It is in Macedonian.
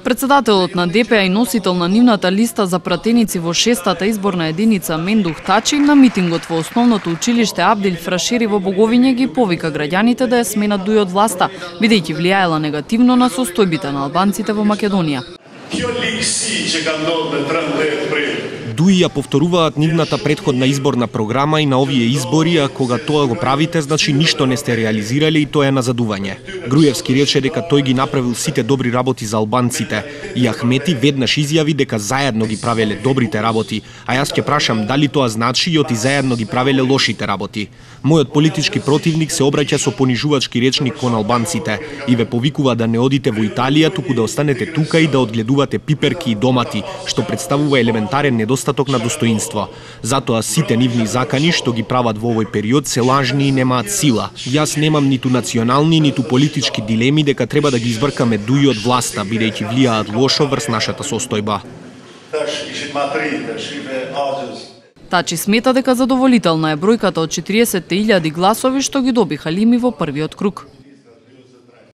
Председателот на ДПА и носител на нивната листа за пратеници во 6-та изборна единица Мендух Тачи на митингот во основното училиште Абдил Фрашери во Боговиње ги повика граѓаните да ја сменат Дуи од власта, бидејќи влијаела негативно на состојбите на албанците во Македонија. Дуи ја повторуваат нивната претходна изборна програма и на овие избори, а кога тоа го правите, значи ништо не сте реализирале и тоа е назадување. Груевски рече дека тој ги направил сите добри работи за албанците и Ахмети веднаш изјави дека заедно ги правеле добрите работи, а јас ќе прашам дали тоа значи и оти заедно ги правеле лошите работи. Мојот политички противник се обраќа со понижувачки речник кон албанците и ве повикува да не одите во Италија, туку да останете тука и да одгледувате пиперки и домати, што представува елементарен недостаток на достоинство. Затоа сите нивни закани што ги прават во овој период се лажни и немаат сила. Јас немам ниту национални, ниту политички дилеми дека треба да ги избркаме Дуи од власта, бидејќи влијаат лошо врз нашата состојба. Тачи смета дека задоволителна е бројката од 40.000 гласови што ги добиха Лими во првиот круг.